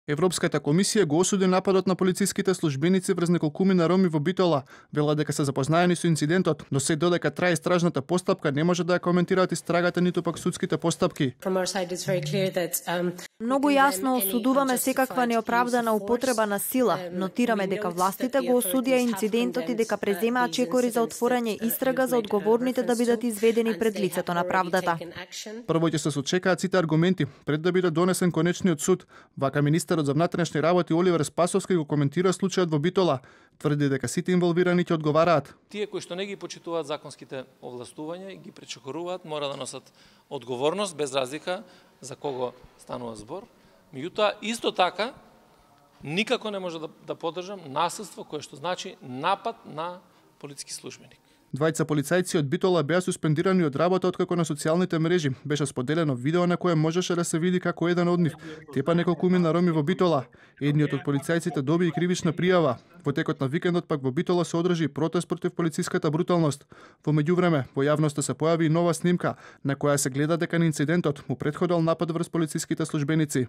Европската комисија го осуди нападот на полициските службеници врз неколкумина роми во Битола. Вела дека се запознаени со инцидентот, но се додека трае истражната постапка не може да ја коментираат истрагата ниту пак судските постапки. Многу јасно осудуваме секаква неоправдана употреба на сила. Нотираме дека властите го осудија инцидентот и дека преземаат чекори за отворање истрага за одговорните да бидат изведени пред лицето на правдата. Прво ќе се сочекаат сите аргументи пред да биде донесен конечниот суд. Вака министерот за внатрешни работи Оливер Спасовски го коментира случајот во Битола. Тврди дека сите инволвирани ќе одговараат. Тие кои што не ги почитуваат законските овластувања и ги пречекоруваат, мора да носат одговорност без разлика за кого станува збор. Меѓутоа, исто така, никако не може да поддржам насилство кое што значи напад на полициски службеник. Двајца полицајци од Битола беа суспендирани од работа откако на социјалните мрежи беше споделено видео на кое можеше да се види како еден од нив тепа неколкумина роми во Битола. Едниот од полицајците доби и кривична пријава. Во текот на викендот пак во Битола се одржи протест против полициската бруталност. Во меѓувреме, во јавноста се појави и нова снимка на која се гледа дека на инцидентот му претходел напад врз полициските службеници.